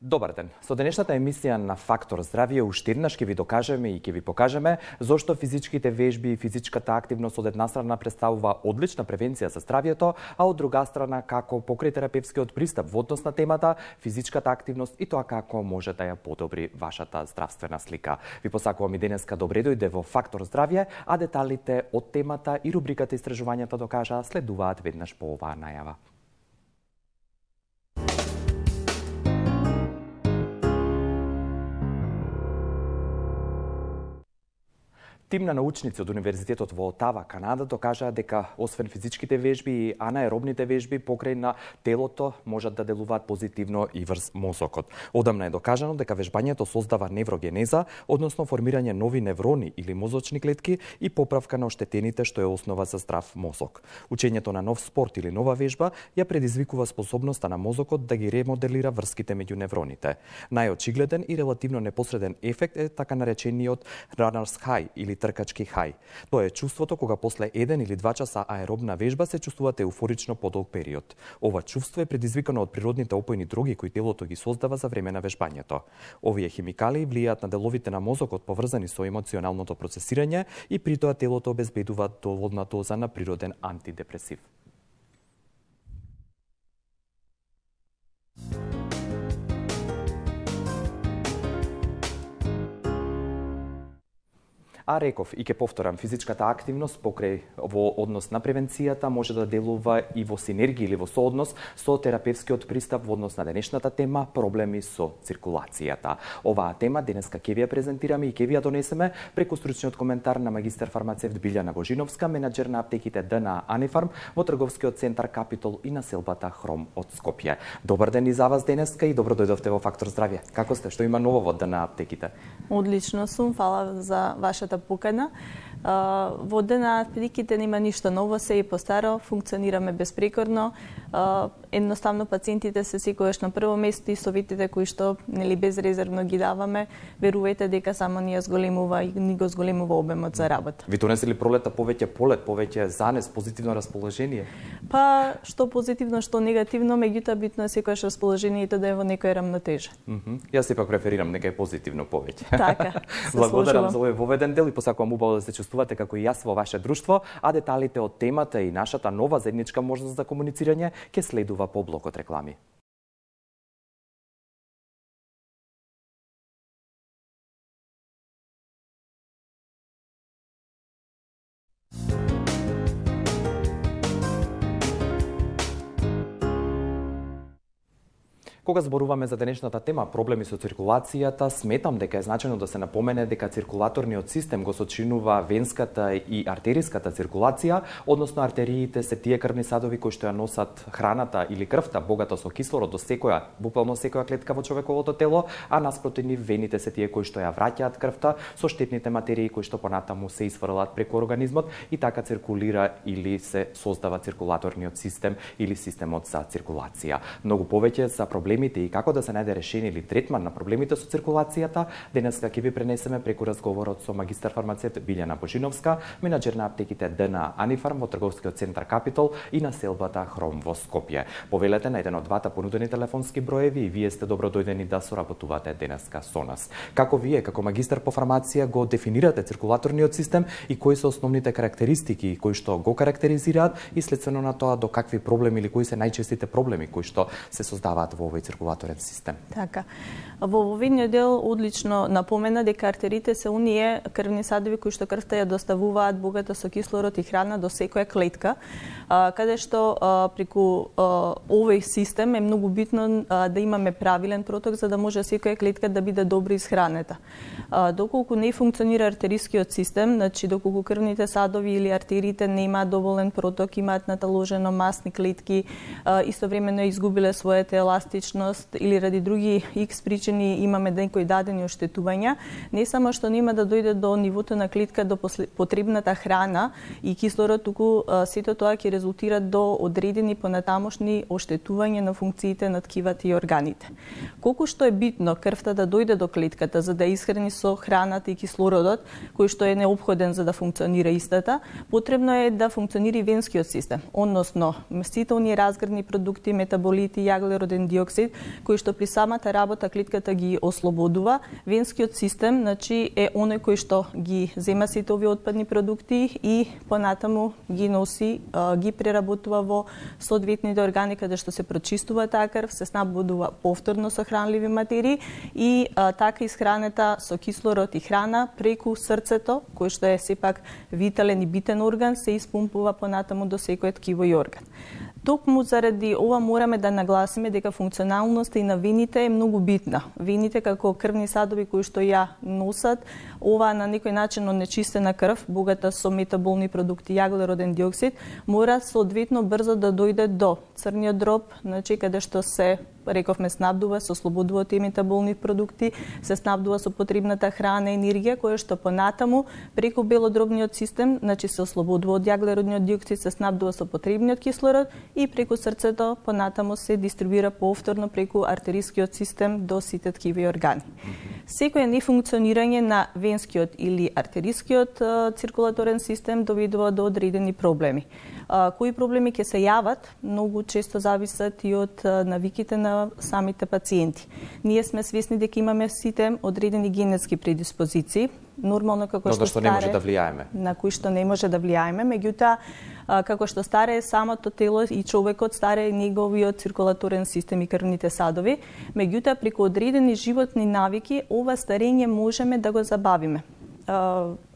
Добар ден. Со денешната емисија на Фактор здравје уште еднаш ќе ви докажеме и ќе ви покажеме зошто физичките вежби и физичката активност од една страна представува одлична превенција за здравјето, а од друга страна како покрај терапевскиот пристап во однос на темата физичката активност и тоа како може да ја подобри вашата здравствена слика. Ви посакувам и денеска добре дојде во Фактор здравје, а деталите од темата и рубриката Истражувањата докажаа следуваат веднаш по оваа најава. Тим на научници од Универзитетот во Отава, Канада, докажаа дека освен физичките вежби и анаеробните вежби покрај на телото можат да делуваат позитивно и врз мозокот. Одамна е докажано дека вежбањето создава неврогенеза, односно формирање нови неврони или мозочни клетки и поправка на оштетените, што е основа за здрав мозок. Учењето на нов спорт или нова вежба ја предизвикува способноста на мозокот да ги ремоделира врските меѓу невроните. Најочигледен и релативно непосреден ефект е така наречениот runner's high или тркачки хај. Тоа е чувството кога после 1 или 2 часа аеробна вежба се чувствувате еуфорично подолг период. Ова чувство е предизвикано од природните опојни дроги кои телото ги создава за време на вежбањето. Овие химикали влијаат на деловите на мозокот поврзани со емоционалното процесирање и при тоа телото обезбедува доволна доза на природен антидепресив. А реков и ќе повторам, физичката активност покрај во однос на превенцијата може да делува и во синергија или во сооднос со терапевскиот пристап во однос на денешната тема проблеми со циркулацијата. Оваа тема денеска ќе ви ја презентираме и ќе ви ја донесеме преку стручниот коментар на магистар фармацевт Билјана Божиновска, менаџер на аптеките ДНА Анифарм во трговскиот центар Капитол и населбата Хром од Скопје. Добар ден и за вас денеска и добро дојдовте во Фактор здравје. Како сте? Што има ново во ДНА аптеките? Одлично сум, фала за вашата покана. Во ДНА аптеките нема ништо ново, се и постаро, функционираме безпрекорно. Едноставно пациентите се секогаш на прво место и советите кои што нели безрезервно ги даваме, верувајте дека само ни зголемува и ни го зголемува обемот за работа. Ви донесли пролета повеќе полет, повеќе занес, позитивно расположение? Па што позитивно, што негативно, меѓутоа битно е секогаш расположението да е во некоја рамнотежа. Јас сепак преферирам нека е позитивно повеќе. Така. Благодарам за овој воведен дел и посакувам убаво да се чувствувате како и јас во ваше друштво, а деталите од темата и нашата нова заедничка можност за комуницирање ќе следува по блокот реклами. Кога зборуваме за денешната тема проблеми со циркулацијата, сметам дека е значено да се напомене дека циркулаторниот систем го сочинува венската и артериската циркулација, односно артериите се тие крвни садови кои што ја носат храната или крвта богата со кислород до буквално секоја клетка во човековото тело, а наспроти нив вените се тие кои што ја враќаат крвта со штетните материи кои што понатаму се изфрлаат преку организмот и така циркулира или се создава циркулаторниот систем или системот за циркулација. Многу повеќе за проблемите и како да се најде решение или третман на проблемите со циркулацијата, денеска ќе ви пренесеме преку разговорот со магистар фармацевт Билјана Божиновска, менаџер на аптеките ДНА Анифарм во трговскиот центар Капитол и населбата Хром во Скопје. Повелете на еден од двата понудени телефонски броеви и вие сте добро дојдени да соработувате денеска со нас. Како вие, како магистар по фармација, го дефинирате циркулаторниот систем и кои се основните карактеристики кои што го карактеризираат и следствено на тоа до какви проблеми или кои се најчестите проблеми кои што се создаваат во овој циркулаторен систем. Така. Во воведниот дел одлично напомена дека артерите се оние крвни садови кои што крвта ја доставуваат богата со кислород и храна до секоја клетка, каде што преку овој систем е многу битно да имаме правилен проток за да може секоја клетка да биде добро исхранета. Доколку не функционира артерискиот систем, значи доколку крвните садови или артериите немаат доволен проток, имаат наталожено масни клетки, истовремено изгубиле својата еластичност или ради други X причини имаме некои дадени оштетувања, не само што нема да дојде до нивото на клетка до потребната храна и кислород, туку сето тоа ќе резултира до одредени понатамошни оштетувања на функциите на ткивата и органите. Колку што е битно крвта да дојде до клетката за да исхрани со храната и кислородот, кој што е неопходен за да функционира истата, потребно е да функционира и венскиот систем, односно сите оние разградни продукти, метаболити, јаглероден диоксид диоксид, кој што при самата работа клетката ги ослободува. Венскиот систем, значи, е оној кој што ги зема сите овие отпадни продукти и понатаму ги носи, ги преработува во соодветните органи каде што се прочистува таа крв, се снабдува повторно со хранливи материи и така исхранета со кислород и храна преку срцето, кој што е сепак витален и битен орган, се испумпува понатаму до секој ткиво и орган. Токму заради ова мораме да нагласиме дека функционалноста и на вените е многу битна. Вените како крвни садови кои што ја носат, ова на некој начин онечистена крв, богата со метаболни продукти, јаглероден диоксид, мора соодветно брзо да дојде до црниот дроб, значи каде што се рековме снабдува со слободува тие метаболни продукти, се снабдува со потребната храна и енергија која што понатаму преку белодробниот систем, значи се ослободува од јаглеродниот диоксид, се снабдува со потребниот кислород и преку срцето понатаму се дистрибуира повторно преку артерискиот систем до сите ткиви органи. Секој нефункционирање на венскиот или артерискиот циркулаторен систем доведува до одредени проблеми. Кои проблеми ќе се јават, многу често зависат и од навиките на самите пациенти. Ние сме свесни дека имаме сите одредени генетски предиспозиции, нормално како што старе, не може да влијаеме. На кои што не може да влијаеме, меѓутоа како што старее самото тело и човекот, старее неговиот циркулаторен систем и крвните садови, меѓутоа преку одредени животни навики ова старење можеме да го забавиме.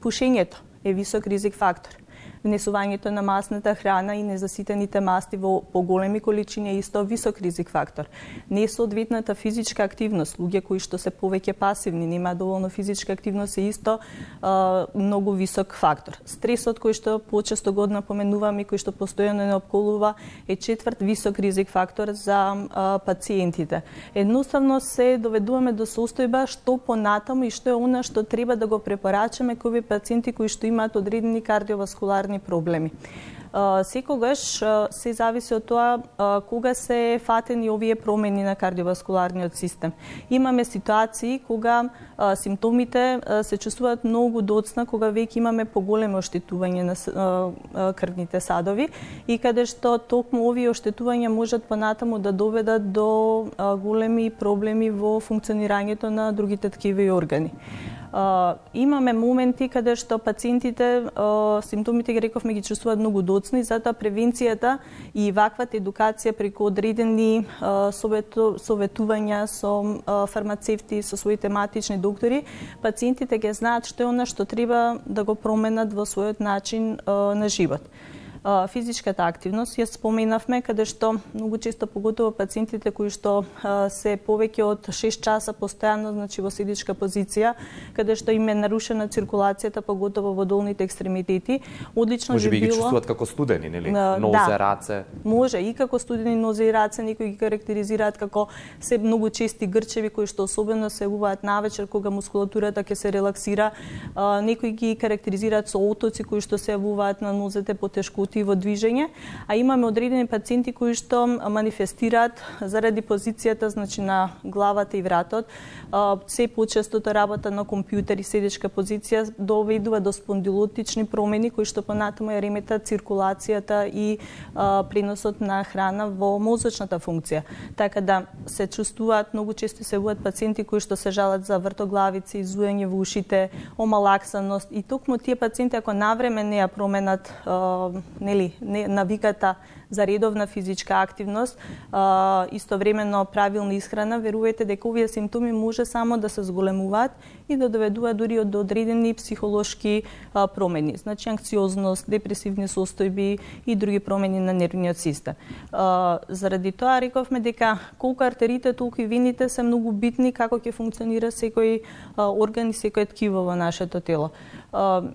Пушењето е висок ризик фактор. Внесувањето на масната храна и незаситените масти во поголеми количини е исто висок ризик фактор. Несоодветната физичка активност, луѓе кои што се повеќе пасивни, нема доволно физичка активност е исто многу висок фактор. Стресот кој што почесто го напоменуваме и кој што постојано не опколува е четврт висок ризик фактор за пациентите. Едноставно се доведуваме до состојба што понатаму и што е она што треба да го препорачаме кои пациенти кои што имаат одредени кардиоваскуларни проблеми. Секогаш се зависи од тоа кога се фатени овие промени на кардиоваскуларниот систем. Имаме ситуации кога симптомите се чувствуваат многу доцна, кога веќе имаме поголемо оштетување на крвните садови и каде што токму овие оштетувања можат понатаму да доведат до големи проблеми во функционирањето на другите ткиви и органи. Имаме моменти каде што пациентите симптомите ги рековме ги чувствуваат многу доцни, затоа превенцијата и ваквата едукација преку одредени советувања со фармацевти, со своите матични доктори, пациентите ќе знаат што е она што треба да го променат во својот начин на живот. Физичката активност ја споменавме, каде што многу често поготово пациентите кои што се повеќе од 6 часа постојано, значи во седичка позиција, каде што им е нарушена циркулацијата, поготово во долните екстремитети, одлично може би било. Може би ги чувствуваат како студени, нели? Нозе, раце. Може и како студени нозе и раце, некои ги карактеризираат како се многу чести грчеви кои што особено се јавуваат навечер кога мускулатурата ќе се релаксира, некои ги карактеризираат со отоци кои што се јавуваат на нозете, потешкоти во движење, а имаме одредени пациенти кои што манифестираат заради позицијата, значи на главата и вратот, се почестото работа на компјутер и седечка позиција доведува до спондилотични промени кои што понатаму ја реметат циркулацијата и преносот на храна во мозочната функција. Така да се чувствуваат многу често се јавуваат пациенти кои што се жалат за вртоглавици, зуење во ушите, омалаксаност и токму тие пациенти ако навреме не ја променат навиката за редовна физичка активност, истовремено правилна исхрана, верувајте дека овие симптоми може само да се зголемуваат и да доведуваат дури до одредени психолошки промени, значи анксиозност, депресивни состојби и други промени на нервниот систем. Заради тоа рековме дека колку артериите, толку и вените се многу битни како ќе функционира секој орган и секој ткиво во нашето тело.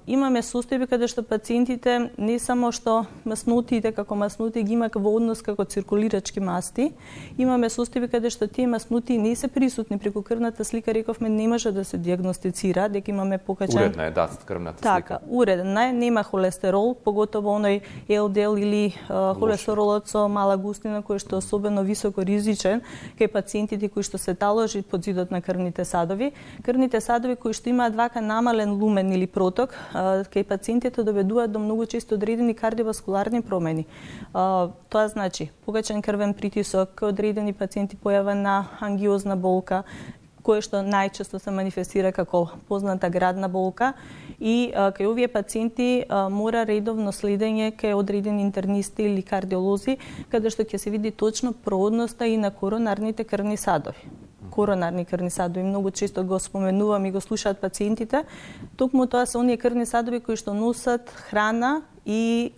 Имаме состојби каде што пациентите не само што маснотиите како маснути ги има во однос како циркулирачки масти, имаме состојби каде што тие маснути не се присутни преку крвната слика, рековме не може да се диагностицира, дека имаме покачен. Уредна е крвната слика. Така, уредна е, нема холестерол, поготово оној ЛДЛ или холестеролот со мала густина кој што е особено високо ризичен кај пациентите кои што се таложи под зидот на крвните садови. Крвните садови кои што имаат вака намален лумен или проток, кај пациентите доведуваат до многу често одредени кардиоваскуларни промени. Тоа значи погачен крвен притисок, одредени пациенти појава на ангиозна болка, кое што најчесто се манифестира како позната градна болка, и кај овие пациенти мора редовно следење кај одредени интернисти или кардиолози, каде што ќе се види точно проодноста и на коронарните крвни садови. Коронарни крвни садови многу често го споменувам и го слушаат пациентите. Токму тоа се оние крвни садови кои што носат храна и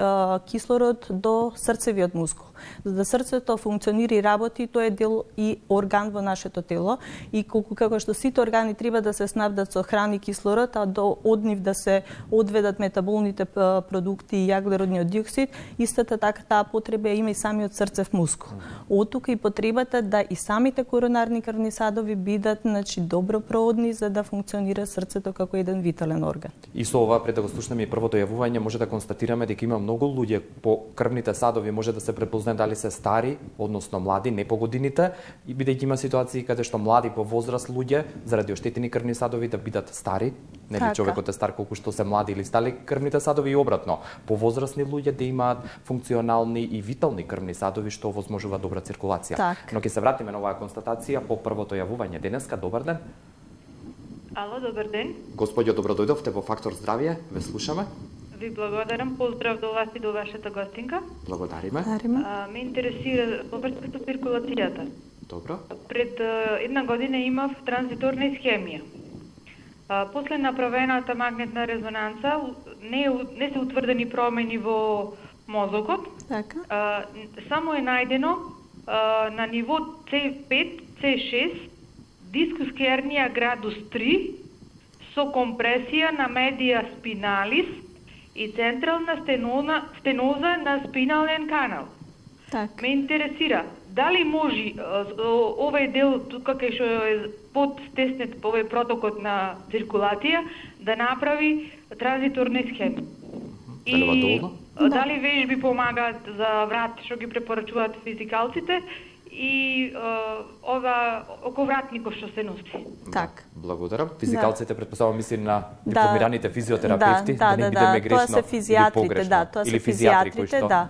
кислород до срцевиот мускул. За да срцето функционира и работи, тоа е дел и орган во нашето тело, и како што сите органи треба да се снабдат со храна и кислород, а од нив да се одведат метаболните продукти и јаглеродниот диоксид, истата така таа потреба има и самиот срцев мускул. Од тука и потребата да и самите коронарни крвни садови бидат добро проводни за да функционира срцето како еден витален орган. И со ова, пред да го слушнеме и првото јавување, може да констатираме дека има многу луѓе по крвните садови, може да се препознае дали се стари, односно млади, не по годините, и бидејќи има ситуации каде што млади по возраст луѓе заради оштетени крвни садови да бидат стари, нели човекот е стар колку што се млади или стали крвните садови, и обратно, по возрастни луѓе да имаат функционални и витални крвни садови што овозможува добра циркулација. Но ќе се вратиме на оваа констатација по првото јавување денеска. Добар ден. Ало, добар ден. Господјо, добро дојдовте во Фактор здравје, ве слушаме. Ви благодарам, поздрав до вас и до вашата гостинка. Благодариме. Ме интересира во врска со циркулацијата. Добро. Пред една година имав транзиторна исхемија. После направената магнетна резонанца не се утврдени промени во мозокот. Така. Само е најдено на ниво C5, C6 дискус хернија градус 3 со компресија на медија спиналис и централна стеноза на спинален канал. Так. Ме интересира, дали може овој дел тука кај што е подстеснет по овој протокот на циркулација да направи транзиторна схема. И дали вежби помагаат за врат што ги препорачуваат физикалците и ова оковратников што се носи. Так. Благодарам. Физикалците претпоставувам мисли на дипломираните физиотерапевти, да не бидеме грешно. Тоа се физијатрите, тоа се физијатрите,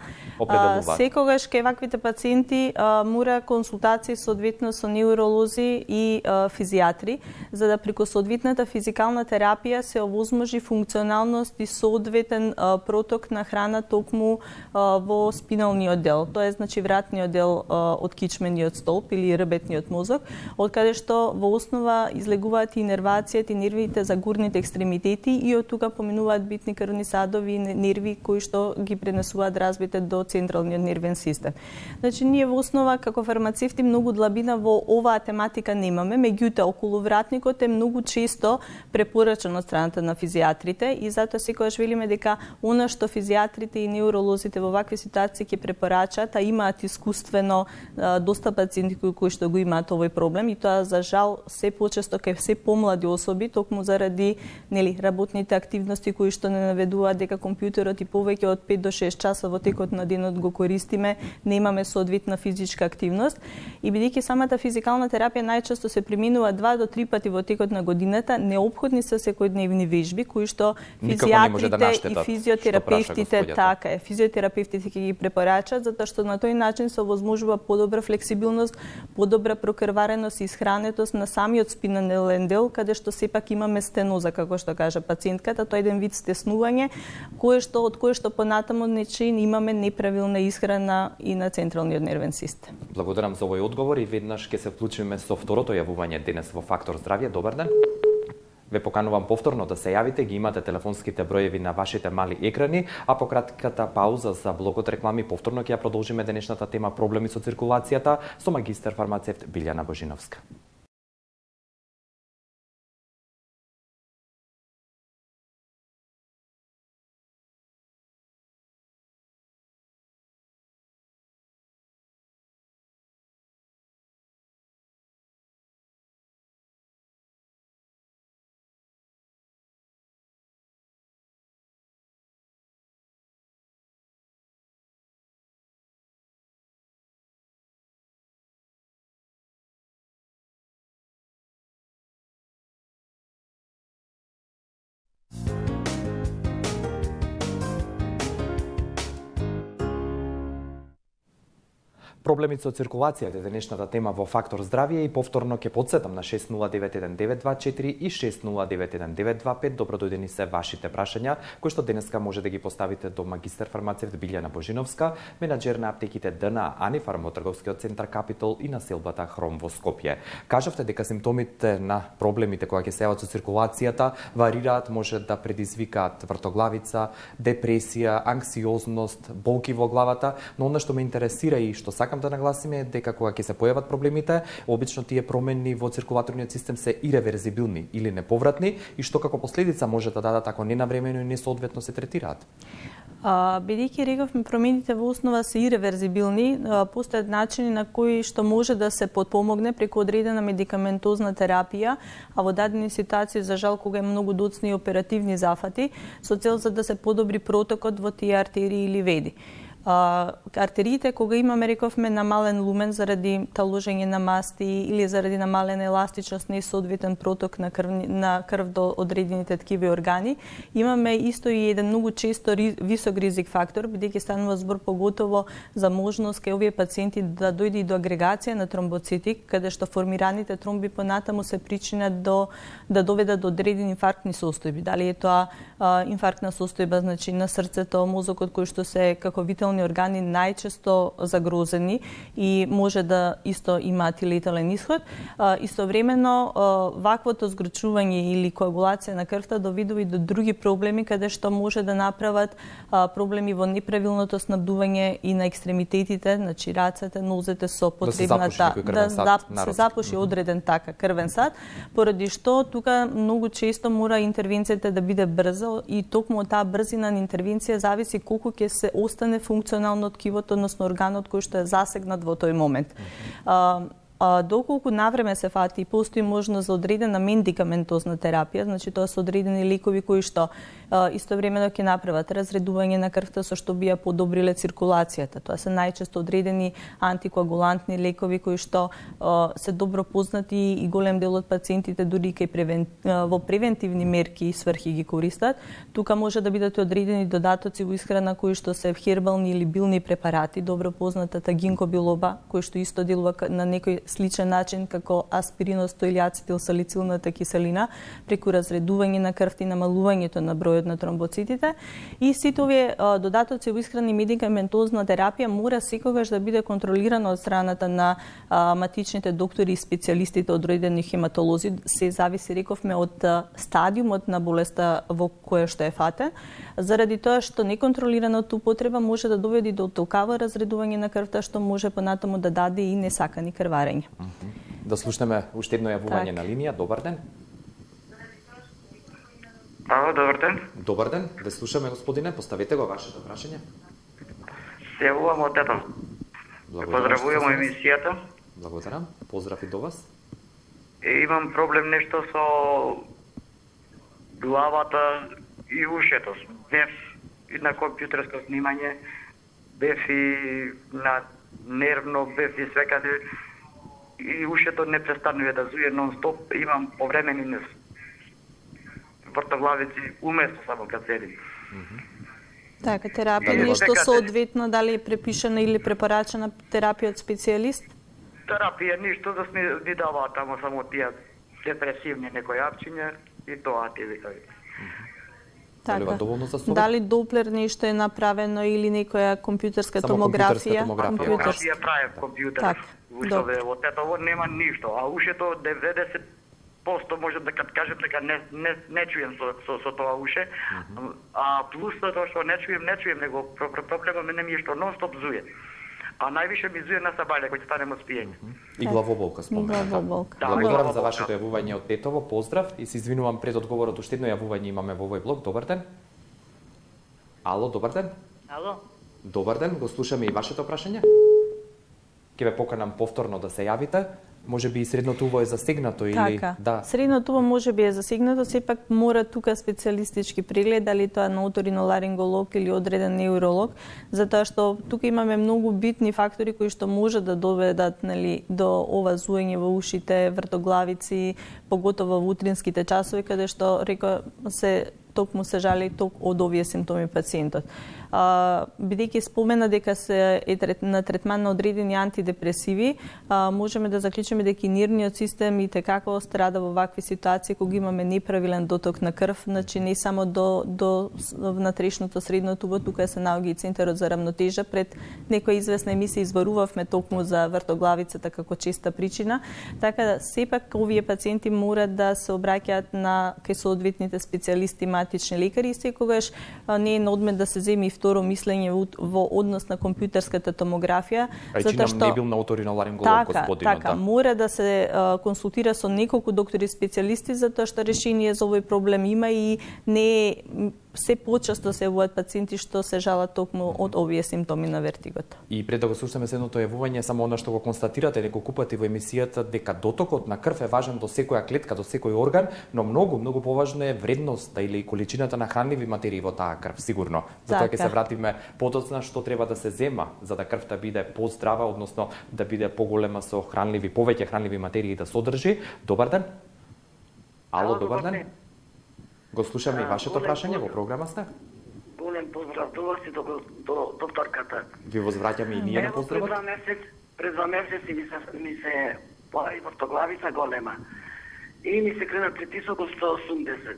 Секогаш кај ваквите пациенти мора консултации соодветно со неуролози и физијатри, за да преку соодветната физикална терапија се овозможи функционалност и соодветен проток на храна токму во спиналниот дел. Тоа е значи вратниот дел од кичмениот столб или рбетниот мозок, од каде што во основа излегуваат и инервацијата и нервите за горните екстремитети, и од тука поминуваат битни крвни садови и нерви кои што ги пренесуваат разбите до централниот нервен систем. Значи, ние во основа како фармацевти многу длабина во оваа тематика немаме, меѓутоа околувратникот е многу често препорачан од страната на физијатрите, и затоа секогаш велиме дека она што физијатрите и неуролозите во вакви ситуации ќе препорачат, а имаат искуствено доста пациенти кои што го имаат овој проблем, и тоа за жал се почесто кај се помлади особи, токму заради работните активности кои што не наведуваат дека компјутерот и повеќе од 5 до 6 часа во текот на денот го користиме, немаме соодветна физичка активност, и бидејќи самата физикална терапија најчесто се применува 2 до 3 пати во текот на годината, неопходни се секојдневни вежби кои што физијатрите и физиотерапевтите физиотерапевтите ќе ги препорачат, затоа што на тој начин се овозможува подобра флексибилност, подобра прокрвареност и исхранетост на самиот спинален дел, каде што сепак имаме стеноза, како што кажа пациентката, тоа е еден вид стеснување од кое што понатаму имаме неправилна исхрана и на централниот нервен систем. Благодарам за овој одговор и веднаш ќе се вклучиме со второто јавување денес во Фактор здравје. Добар ден. Ве поканувам повторно да се јавите, ги имате телефонските броеви на вашите мали екрани, а по кратката пауза за блокот реклами повторно ќе ја продолжиме денешната тема проблеми со циркулацијата со магистар фармацевт Билјана Божиновска. Проблемите со циркулацијата е денешната тема во Фактор здравје и повторно ќе подсетам на 6091-924 и 6091-925. Добро дојдени се вашите прашања, кои што денеска може да ги поставите до магистер фармацевт Билјана Божиновска, менаџер на аптеките ДНА Анифарм во трговскиот центар Капитол и на селбата Хром во Скопје. Кажавте дека симптомите на проблемите кои ќе се јават со циркулацијата варираат, може да предизвикаат вртоглавица, депресија, анксиозност, болки во главата, но она што ме интересира и што сакам да нагласиме е дека кога ќе се појават проблемите, обично тие промени во циркулаторниот систем се иреверзибилни или неповратни и што како последица може да дадат ако ненавремено и несоодветно се третираат. Бидејќи рековме промените во основа се иреверзибилни, постојат начини на кои што може да се подпомогне преку одредена медикаментозна терапија, а во дадени ситуации за жал кога е многу доцни и оперативни зафати, со цел за да се подобри протокот во тие артерии или вени. Артериите, кога имаме, рековме, намален лумен заради таложење на масти или заради намалена еластичност, несоодветен проток на крв до одредените ткиви органи, имаме исто и еден многу често висок ризик фактор, бидејќи станува збор поготово за можност кај овие пациенти да дојде и до агрегација на тромбоцити, каде што формираните тромби понатаму се причинат да доведат до одредени инфарктни состојби. Дали е тоа инфарктна состојба, значи на срцето, мозокот, кој што се како витални органи најчесто загрозени и може да исто имаат и летален исход. Истовремено, ваквото згрчување или коагулација на крвта доведува и до други проблеми, каде што може да направат проблеми во неправилното снабдување и на екстремитетите, значи рацете, нозете со потребната да се запуши одреден така крвен сад, поради што тука многу често мора интервенцијата да биде брза и токму од таа брзина на интервенција зависи колку ќе се остане функционално ткивото, односно органот кој што е засегнат во тој момент. Доколку навреме се фати и постои можност за одредена медикаментозна терапија, значи тоа се одредени лекови кои што истовремено ќе направат разредување на крвта со што би ја подобриле циркулацијата. Тоа се најчесто одредени антикоагулантни лекови кои што се добро познати и голем дел од пациентите дури во превентивни мерки и сврхи ги користат. Тука може да бидат одредени додатоци во исхрана кои што се хербални или билни препарати, добро познатата гинко билоба, кој што исто делува на некој сличен начин како аспиринот или ацетилсалицилната киселина, преку разредување на крвта и намалувањето на бројот на тромбоцитите. И сите овие додатоци во исхрана и медикаментозна терапија мора секогаш да биде контролирано од страната на матичните доктори и специјалистите од одредени хематолози. Се зависи, рековме, од стадиумот на болеста во која што е фатен, заради тоа што неконтролираната употреба може да доведе до толкава разредување на крвта што може понатаму да даде и несакани крварења. Да слушнеме уште едно јавување на линија. Добар ден. Ало, добар ден. Добар ден. Да слушаме, господине, поставете го вашето прашање. Се јавувам од Тетон. Поздравувам емисијата. Благодарам. Поздрав и до вас. Имам проблем нешто со главата и ушето. Бев и на компјутерско снимање, бев и на нервно, бев и свекаде. И ушето не престанува да зуе нон-стоп. Имам повремени вртоглавици уместо само кад седим. Така, терапија нешто соодветно, дали е препишана или препорачена терапија од специјалист? Терапија ништо, да ни даваат тамо само тие депресивни некои апчиња и тоа ти викави. Така. Дали Доплер нешто е направено или некоја компјутерска томографија? Томографија прави компјутер. Уште во Тетово нема ништо, а ушето 90% може да кажам дека не чуjem со тоа уше, а плюс тоа што не чуjem, него проблемот мене ми е што нон-стоп зуе. А највише ми зуе на сабајле кој ќе станем од спиење. И главоболка спомена. Благодарам за вашето јавување од Тетово, поздрав и се извинувам пред одговорот, уште едно јавување имаме во овој блок. Добар ден. Ало, добар ден. Ало. Добар ден, го слушаме и вашето прашање. Ке ве поканам повторно да се јавите. Може би и средното уво е засегнато или да. Средното уво може би е засегнато, сепак мора тука специјалистички преглед, дали тоа на оториноларинголог или одреден неуролог, затоа што тука имаме многу битни фактори кои што може да доведат, нели, до ова зуење во ушите, вртоглавици, поготово во утринските часови, каде што се токму се жали од овие симптоми пациентот. Бидејќи спомена дека се на третман на одредени антидепресиви, можеме да заклучиме дека нервниот систем и како страда во вакви ситуации кога имаме неправилен доток на крв, значи не само до внатрешното средно тубо, тука се наоѓа и центарот за рамнотежа. Пред некоја известна емисија избарувавме токму за вртоглавицата како честа причина, така да сепак овие пациенти мора да се обраќаат кај соодветните специјалисти, матични лекари, и секогаш не е на одмет да се земи и второ мислење во однос на компјутерската томографија, затоа што не бил на оториноларинголог господинот. Така, мора да се консултира со неколку доктори специјалисти, затоа што решение за овој проблем има и не е се почесто се јавуваат пациенти што се жалат токму од овие симптоми на вертигото. И пред да го слушаме следното јавување, само она што го констатирате неколку пати во емисијата, дека дотокот на крв е важен до секоја клетка, до секој орган, но многу поважно е вредноста или количината на хранливи материи во таа крв, сигурно. Затоа ќе се вратиме подоцна што треба да се зема за да крвта биде поздрава, односно да биде поголема со хранливи, повеќе хранливи материи да содржи. Добар ден. Ало, добар ден. Го слушаме и вашето прашање, во програма сте. Голем поздрав до вас и до докторката. Ви возвраќаме и ние на поздравот. Пред 2 месеци ми се појави вртоглавица голема. И ми се крена притисок од 180.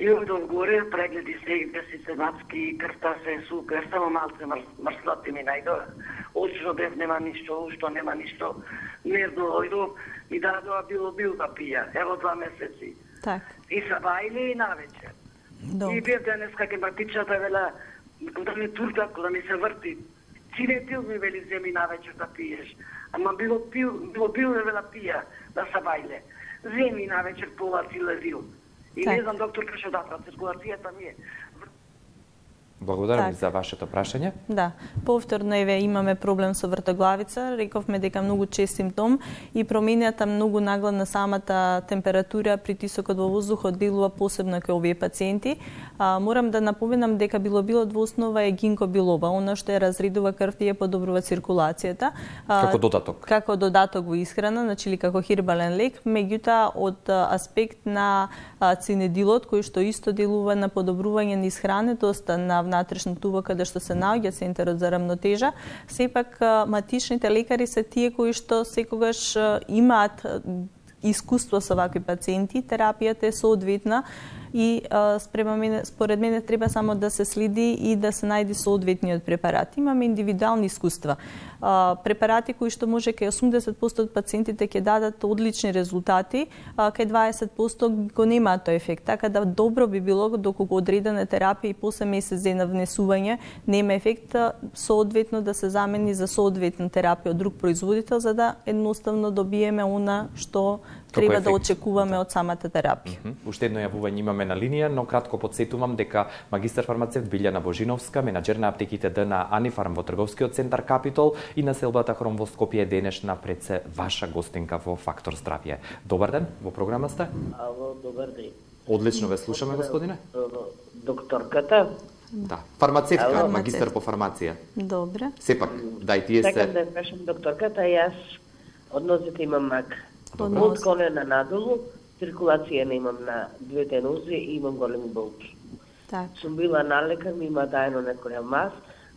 И од горе прегледи се мацки, крвта се супер, само малце мрслати ми најдоа. Очно бев нема ништо, ушто нема ништо. Нервно дојдов, ми дадоа бил да пија. Ево 2 месеци. Так. И са бајле и навечер. И бев денеска ке братичата вела, кога ми турка, кога ми се врти, цинетил ми вели земи навечер да пиеш. Ама било пил вела пија, да са бајле. Земи навечер пола цилезил. И не знам, доктор, кај дата, циркулацијата ми е. Благодарам за вашето прашање. Да, повторно имаме проблем со вртоглавица. Рековме дека многу чест симптом и промената многу нагла на самата температура, притисокот во воздухот делува посебно кај овие пациенти. Морам да напоменам дека билобилот во основа е гинко билоба, она што ја разредува крвта и ја подобрува циркулацијата. Како додаток. Како додаток во исхрана, значи или како хербален лек, меѓутоа од аспект на цинедилот кој што исто делува на подобрување на исхранетоста на внатрешно тубо каде што се наоѓа центарот за рамнотежа, сепак матичните лекари се тие кои што секогаш имаат искуство со вакви пациенти, терапијата е соодветна и според мене треба само да се следи и да се најде соодветниот препарат. Имаме индивидуални искуства. Препарати кои што може кај 80% од пациентите ќе дадат одлични резултати, кај 20% го немаат тој ефект. Така да добро би било доколку одредена терапија и после месец дена внесување нема ефект, соодветно да се замени за соодветна терапија од друг производител, за да едноставно добиеме она што треба да очекуваме од самата терапија. Уште едно јавување имаме на линија, но кратко подсетувам дека магистар фармацевт Билјана Божиновска, менаџер на аптеките Д на Анифарм во трговскиот центар Капитол и на селбата Хром во Скопје денешна пред се ваша гостинка во Фактор здравје. Добар ден, во програма сте? Ало, добар ден. Одлично ве слушаме, господине. Докторката? Да, фармацевтка, магистар по фармација. Добре. Сепак, дај тие се... Сакам да кажам докторката, јас од нозите имам мак. Од колена надолу, циркулација не имам на двете нозе и имам големи болки. Сум била на лекар, ми има дајано некоја мас,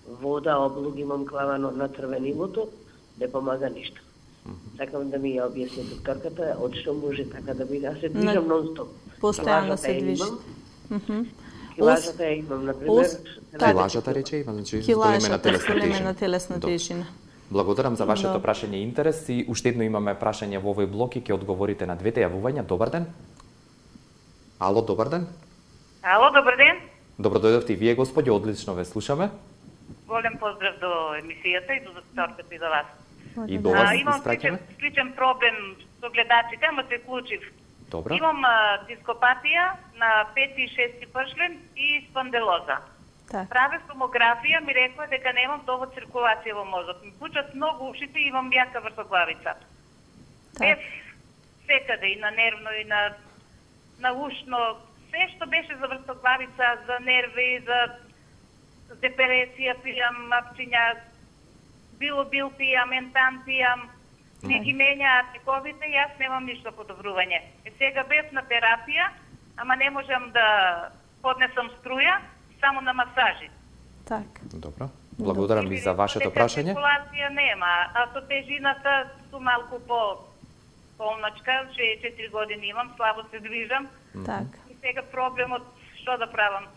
вода, облуг имам клавано на црвенилото, не помага ништо. Сакам да ми ја објасни докторката, од што може така да биде. Аз се движам нон-стоп. Постојано се движи. Килажата ја имам, например. Килажата рече има, значи големена телесна тежина. Благодарам за вашето прашање и интерес и уште едно имаме прашање во овој блок и ќе одговорите на двете јавувања. Добар ден. Ало, добар ден. Ало, добар ден. Добро дојдовте и вие, господи, одлично ве слушаме. Голем поздрав до емисијата и до докторката и до вас. И до вас имам сличен проблем со гледачите, ама се вклучив. Добро. Имам дископатија на 5 и 6 пршлен и спонделоза. Правев томографија, ми рекоа дека немам доволно циркулација во мозок. Ми пучат многу ушите и имам јака вртоглавица. Секаде, и на нервно, и на ушно. Се што беше за вртоглавица, за нерви, за депресија пијам, апчиња, било пијам, ентан пијам. Не ги менјаат лековите и јас немам ништо подобрување. Сега бев на терапија, ама не можам да поднесам струја само на масажи. Так. Добро. Благодарам ви за вашето прашање. Циркулација нема, а со тежината су малку полначка, 64 години имам, слабо се движам. Так. И сега проблемот што да правам?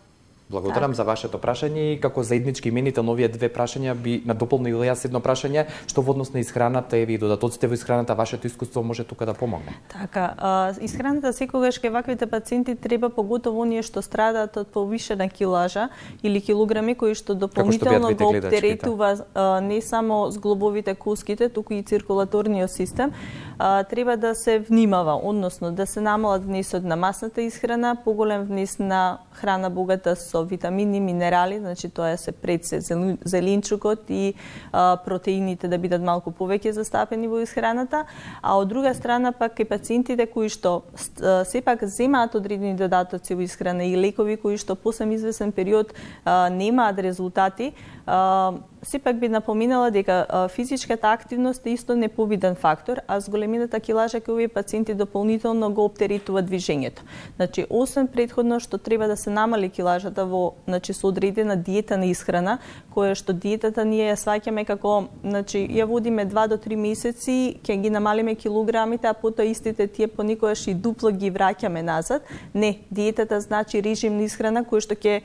Благодарам за вашето прашање и како заеднички именител на овие две прашања би надополнила јас едно прашање што во однос на исхраната и додатоците во исхраната, вашето искуство може тука да помогне. Така, исхраната секогаш кај ваквите пациенти треба, поготово оние што страдаат од повишена килажа или килограми кои што дополнително го оптеретува не само зглобовите куските, туку и циркулаторниот систем, треба да се внимава, односно да се намалат внесот на масната исхрана, поголем внес на храна богата со витамини, минерали, значи тоа се пред се зеленчукот и протеините да бидат малку повеќе застапени во исхраната, а од друга страна пак и пациентите кои што сепак земаат одредени додатоци во исхрана и лекови кои што после извесен период немаат резултати, сепак би напоминала дека физичката активност е исто неповиден фактор, а зголемината килажа кај овие пациенти дополнително го оптеретува движењето. Значи, освен претходно што треба да се намали килажата во, значи, со одредена диета на исхрана, која што диетата ние ја сваќаме како, значи, ја водиме 2 до 3 месеци, ќе ги намалиме килограмите, а потоа истите тие понекогаш и дупло ги враќаме назад. Не, диетата значи режим на исхрана кој што ќе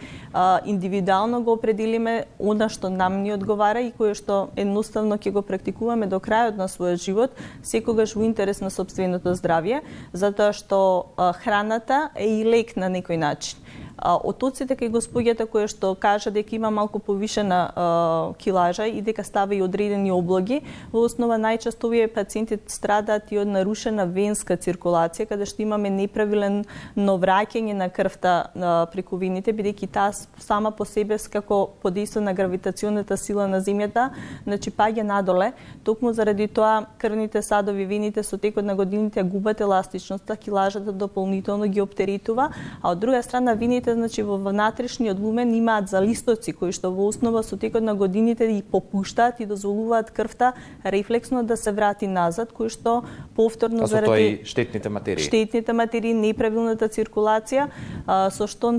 индивидуално го определиме она што нам ни одговара и кое што едноставно ќе го практикуваме до крајот на својот живот, секогаш во интерес на сопственото здравје, затоа што храната е и лек на некој начин. Отоците кај господјата која што кажа дека има малку повишена килажа и дека става и одредени облоги, во основа најчесто овие пациенти страдаат и од нарушена венска циркулација, каде што имаме неправилно враќање на крвта преку вените, бидејќи таа сама по себе како подейства на гравитационната сила на земјата, значи паѓа надоле, токму заради тоа крвните садови, вените со текот на годините губат еластичноста, килажата дополнително ги оптеретува, а од друга страна вените, значи во внатрешниот лумен имаат залистоци кои што во основа со текот на годините и попуштаат и дозволуваат крвта рефлексно да се врати назад, кои што повторно заради штетните материи, неправилната циркулација, со што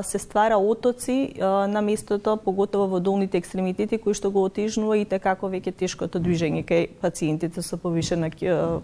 се ствара отоци на местото, поготово во долните екстремитети, кои што го отежнува и како веќе тешкото движење кај пациентите со повишена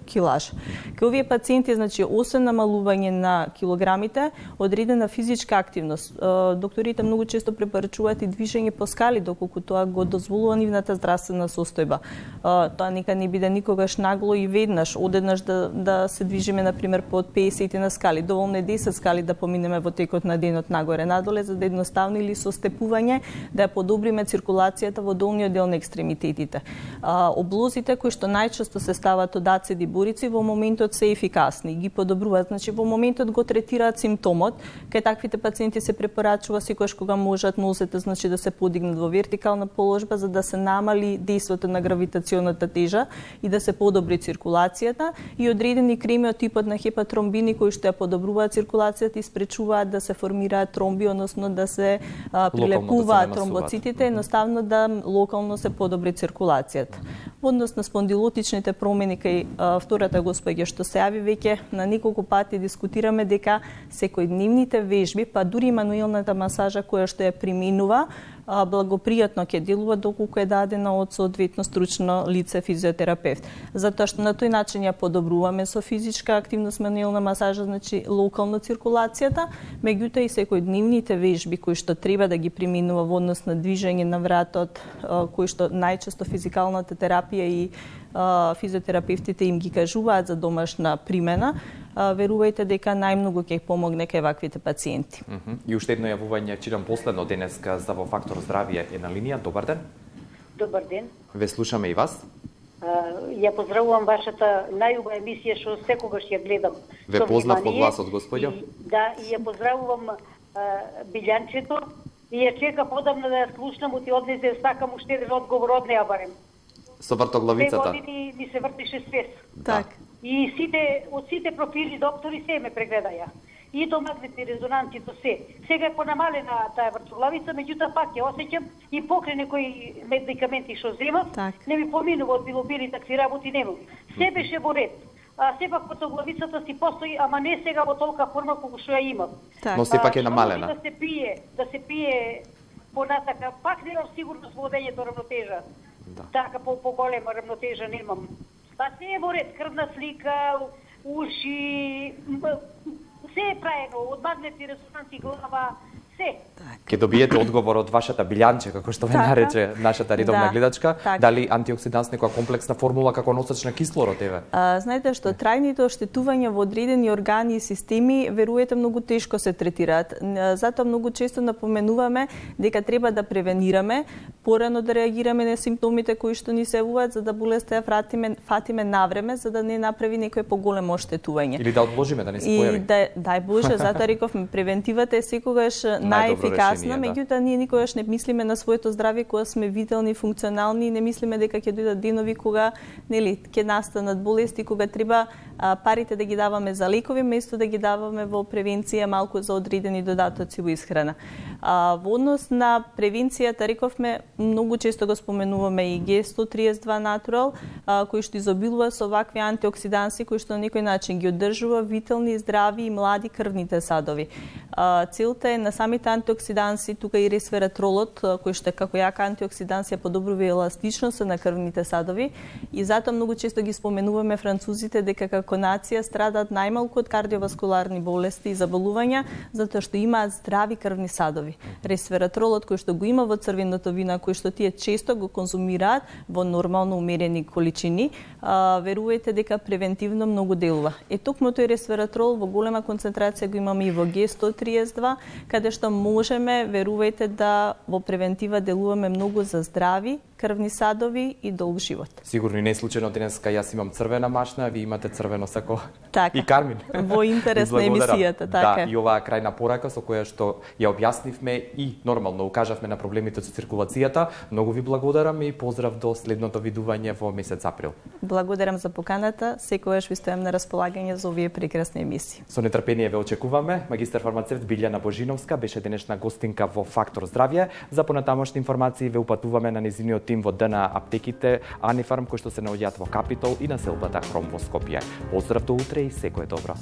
килаж. Кај овие пациенти, значи, освен намалување на килограмите, одредена физичка активност. Докторите многу често препорачуваат и движење по скали, доколку тоа го дозволува нивната здравствена состојба. Тоа нека не биде никогаш нагло и веднаш, одеднаш да се движиме, например, под 50 на скали. Доволно е 10 скали да поминеме во текот на денот нагоре-надоле, за да едноставно или со степување да ја подобриме циркулацијата во долниот дел на екстремитетите. Облозите кои што најчесто се стават од ацид и бурици во моментот се ефикасни, ги подобруваат, значи во моментот го третираат симптомот. Кај таквите пациенти се препорачува секогаш кога можат нозете, значи, да се подигнат во вертикална положба за да се намали дејството на гравитационната тежа и да се подобри циркулацијата, и одредени креми од типот на хепатромбини кои што ја подобруваат циркулацијата и спречуваат да се формираат тромби, односно да се прилепуваат тромбоцитите, едноставно да локално се подобри циркулацијата. Во однос на спондилотичните промени кај втората господја што се јави, веќе на неколку пати дискутираме дека секојдневните вежби, па дури мануелната масажа која што ја применува, благопријатно ќе делува доколку е дадена од соодветно стручно лице физиотерапевт. Затоа што на тој начин ја подобруваме со физичка активност мануелна масажа, значи локално циркулацијата, меѓутоа и секојдневните вежби кои што треба да ги применува во однос на движење на вратот, кои што најчесто физикалната терапија и физиотерапевтите им ги кажуваат за домашна примена, верувајте дека најмногу ќе помогне кај ваквите пациенти. И уште едно јавување, читам последно денеска за во Фактор здравје е на линија. Добар ден. Добар ден. Ве слушаме и вас. Ја поздравувам вашата најубава емисија што секогаш ја гледам. Ве познав од гласот, господјо. Да, и ја поздравувам Билјанчето и ја чекам одамна да ја слушнам, и однесе сакам уште еден одговор од неа барем. Со вртоглавицата. 2 години ми се вртише свес. Так. И од сите профили доктори се ме прегледаја. И до магнетни резонанци, до се. Сега е понамалена таа вртоглавица, меѓутоа пак ја осеќам и покрај некои медикаменти што земам, не ми поминува од билобили такви работи немам. Се беше во ред. сепак потоглавицата си постои, ама не сега во толка форма колку што ја имам. Но сепак е намалена. Да се пие понатака, пак немам сигурност во одењето равнотежа. Така по-голема равнотежа немам. Па се е во ред, крвна слика, уши, се е праено, од магнетни резонанси, глава, се. Ке добиете одговор од вашата билјанче, како што ве нарече нашата редовна гледачка, дали антиоксиданс некоја комплексна формула како носач на кислород еве? Знаете што трајните оштетувања во одредени органи и системи веруете многу тешко се третираат. Затоа многу често напоменуваме дека треба да превенираме, порано да реагираме на симптомите кои што ни се јавуваат за да болеста ја фатиме навреме за да не направи некое поголемо оштетување. Или да одложиме да не се појави. И дај Боже, затоа рековме превентивата е секогаш најефикасна, меѓутоа ние никогаш не мислиме на своето здравје кога сме витални, функционални и не мислиме дека ќе дојдат денови кога ќе настанат болести, кога треба парите да ги даваме за лекови место да ги даваме во превенција малку за одредени додатоци во исхрана. Во однос на превенцијата рековме многу често го споменуваме и G132 Natural кој што изобилува со вакви антиоксиданси кои што на некој начин ги одржува витални, здрави и млади крвните садови. Целта е на самите антиоксиданси, тука и ресвератролот, кој што како јака антиоксиданс ја подобрува еластичноста на крвните садови и затоа многу често ги споменуваме французите дека како нација страдаат најмалку од кардиоваскуларни болести и заболувања затоа што имаат здрави крвни садови. Ресвератролот кој што го има во црвеното вино, кој што тие често го конзумираат во нормално умерени количини, верувајте дека превентивно многу делува. Токму тој ресвератрол во голема концентрација го имаме и во G132, каде што можеме, верувајте да во превентива делуваме многу за здрави крвни садови и долг живот. Сигурно и не е случајно денеска јас имам црвена машна, ви имате црвено сако така, и кармин. Во интерес на емисијата, така. Да, и оваа крајна порака со која што ја објаснивме и нормално укажавме на проблемите со циркулацијата. Многу ви благодарам и поздрав до следното видување во месец април. Благодарам за поканата, секогаш ви стојам на располагање за овие прекрасни емисии. Со нетрпение ве очекуваме. Магистар фармацевт Билјана Божиновска беше денешна гостинка во Фактор здравје. За понатамошни информации ве упатуваме на незиниот тим во ДНА аптеките Анифарм кои што се наоѓаат во Капитол и на селбата Хром во Скопје. Поздрав до утре и секое добро.